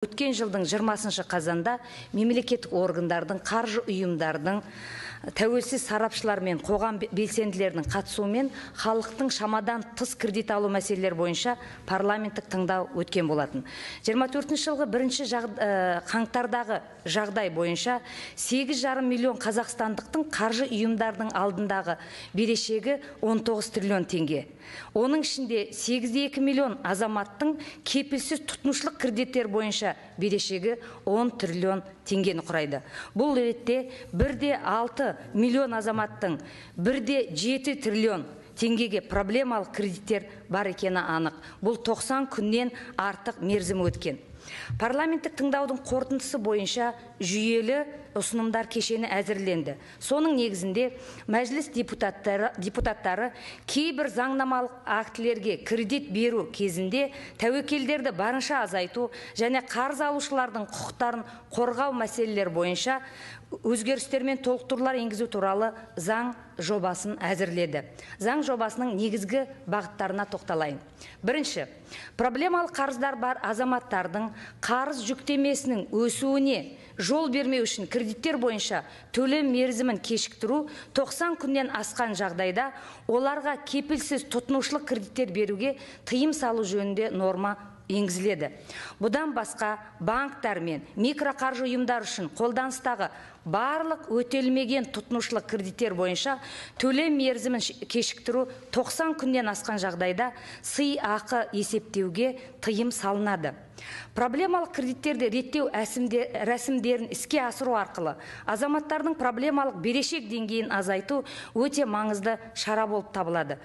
Өткен жылдың 20 қазанда мемлекеттік органдардың, қаржы ұйымдардың, тәуелсіз сарапшылар мен қоғам белсенділерінің қатысуымен халықтың шамадан тыс кредит алу мәселелері бойынша парламенттік тыңдау өткен болатын. 24 жылғы 1 қаңтардағы жағдай бойынша 8,5 миллион қазақстандықтың қаржы ұйымдардың алдындағы берешегі 19 триллион теңге. Оның ішінде 8,2 миллион азаматтың кепілсіз тұтынушылық кредиттер бойынша берешегі 10 триллион теңгені құрайды. Бұл ретте 1,6 миллион азаматтың 1,7 триллион теңгеге проблемалық кредиттер бар екені анық. Бұл 90 күннен артық мерзім өткен. Парламенттік тыңдаудың қорытындысы бойынша жүйелі ұсынымдар кешені әзірленді. Соның негізінде мәжіліс депутаттары кейбір заңнамалық актілерге кредит беру кезінде тәуекелдерді барынша азайту және қарыз алушылардың құқықтарын қорғау мәселелер бойынша өзгерістер мен толықтырулар енгізу туралы заң жобасын әзірледі. Заң жобасының негізгі бағыттарына тоқталайын. Бірінші, проблемалық қарыздар бар азаматтардың қарыз жүктемесінің өсуіне жол бермеу үшін кредиттер бойынша төлем мерзімін кешіктіру 90 күннен асқан жағдайда оларға кепілсіз тұтынушылық кредиттер беруге тыйым салу жөнінде норма енгізіледі. Бұдан басқа банктар мен микроқаржы ұйымдар үшін қолданыстағы барлық өтелмеген тұтынушылық кредиттер бойынша төлем мерзімін кешіктіру 90 күннен асқан жағдайда сыйақы есептеуге тыйым салынады. Проблемалық кредиттерді реттеу рәсімдерін іске асыру арқылы азаматтардың проблемалық берешек деңгейін азайту өте маңызды шара болып табылады.